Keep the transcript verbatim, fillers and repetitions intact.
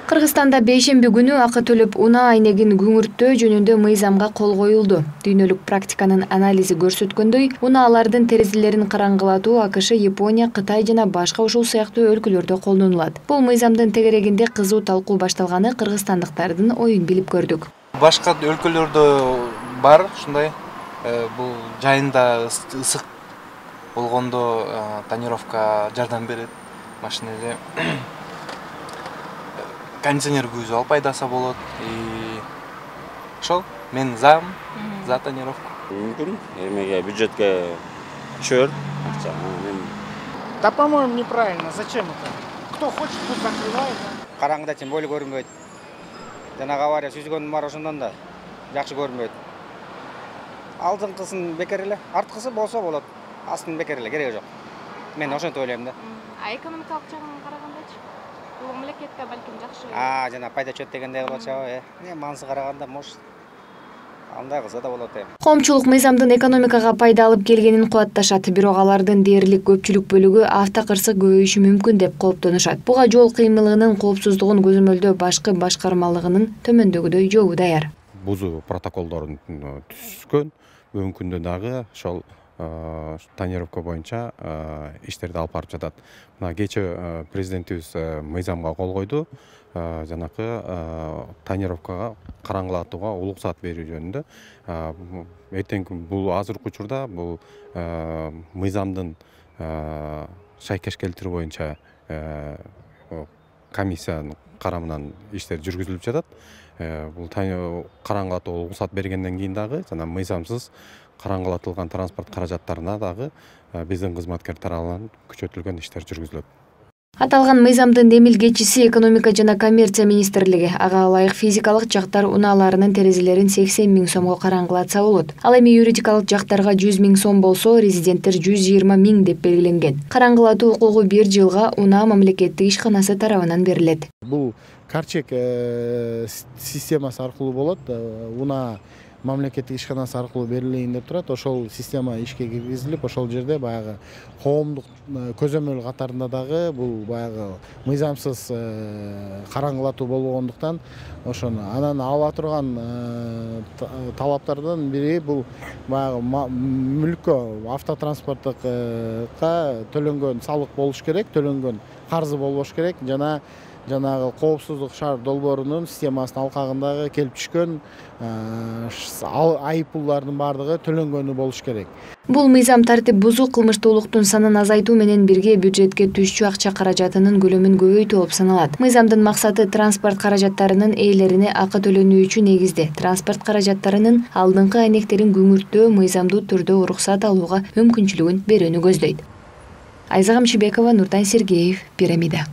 Кыргызстанда бейшемби күнү акы төлөп унаа айнегин күңүрттөө жөнүндө мыйзамга кол коюлду. Дүйнөлүк практиканын анализи көрсөткөндөй, унаалардын терезелерин караңгылатуу АКШ, Япония, Кытай жана башка ушул сыяктуу өлкөлөрдө колдонулат. Бул мыйзамдын тегерегинде кызуу талкуу башталганы кыргызстандыктардын оюн билип көрдүк. Башка өлкөлөрдө бар ушундай, бул жайында ысык болгондо тонировка жардам берет машинеде. Кондиционер күйүүсү алып пайдасы болот. Ошол мен за за тонировку. Мүмкүн эмеге бюджетке түшөр акча. Да, по-моему, неправильно. Зачем это? Кто хочет, пусть закрывает. Караңгыда тем более көрүнбөйт. Жанагы авария сүзгөн бар ошондон да жакшы көрүнбөйт. Алдыңкысын бекер эле, арткысы болсо болот. Астын бекер эле, кереги жок. Мен ошентип ойлойм да. А экономикалык жагынан карагандачы? Бул мамлекетке балким жакшы. А, жана пайда чөт дегендей кылып атышабы, э. Не маңызы караганда, может, андай кылса да болот, э. Коомчулук мыйзамдын экономикага пайда алып келгенин кубатташат, бирок алардын дээрлик көпчүлүк бөлүгү автокырсык көбөйүшү мүмкүн деп кооптонушат. Буга жол кыймылынын коопсуздугун көзөмөлдөө башкы башкармалыгынын төмөндөгүдөй жообу даяр. Бузуу протоколдорун түзүшкөн, бүгүнкү күндө дагы ошол тонировка боюнча иштерди алып барып жатат. Мына кечээ президентибиз мыйзамга кол койду. Жанакы тонировкага караңгылатууга уруксат берүү жөнүндө. Эртеңки бул азыркы учурда бул мыйзамдын шайкеш келтирүү боюнча комиссиянын карамынан иштер жүргүзүлүп жатат. Бул караңгылатууга уруксат бергенден кийин дагы жана мыйзамсыз караңгылатылган транспорт каражаттарына дагы биздин кызматкер тарабынан күчөтүлгөн иштер жүргүзүлөт. Аталган мыйзамдын демилгечиси экономика жана коммерция министрлиги. Ага ылайык физикалык жактар унааларынын терезелерин сексен миң сомго караңгылатса болот. Ал эми юридикалык жактарга жүз миң сом болсо, резиденттер жүз жыйырма миң деп белгиленген. Караңгылатуу укугу бир жылга унаа мамлекеттик ишканасы тарабынан берилет. Бул карчек системасы аркылуу болот. Унаа мамлекеттик ишканасы аркылуу берилейин деп турат. Ошол система ишке киргизилип, ошол жерде баягы коомдук көзөмөл катарында дагы бул баягы мыйзамсыз караңгылатуу болгондуктан ошону анан ала турган талаптардан бири бул баягы мүлккө, автотранспорттукка төлөнгөн салык болуш керек, төлөнгөн карзы болбош керек жана жанагы коопсуздук шаар долбоорунун системасынын алкагындагы келип түшкөн айыппулдардын баардыгы төлөнгөнү болуш керек. Бул мыйзам тартип бузуу кылмыштуулуктун санын азайтуу менен бирге бюджетке түшчү акча каражатынын көлөмүн көбөйтүү болуп саналат. Мыйзамдын максаты транспорт каражаттарынын ээлерине акы төлөнүүчү негизде транспорт каражаттарынын алдыңкы айнектерин күңүрттөө мыйзамдуу түрдө уруксат алууга мүмкүнчүлүгүн берүүнү көздөйт. Айза Камчыбекова, Нуртан Сергеев, Пирамида.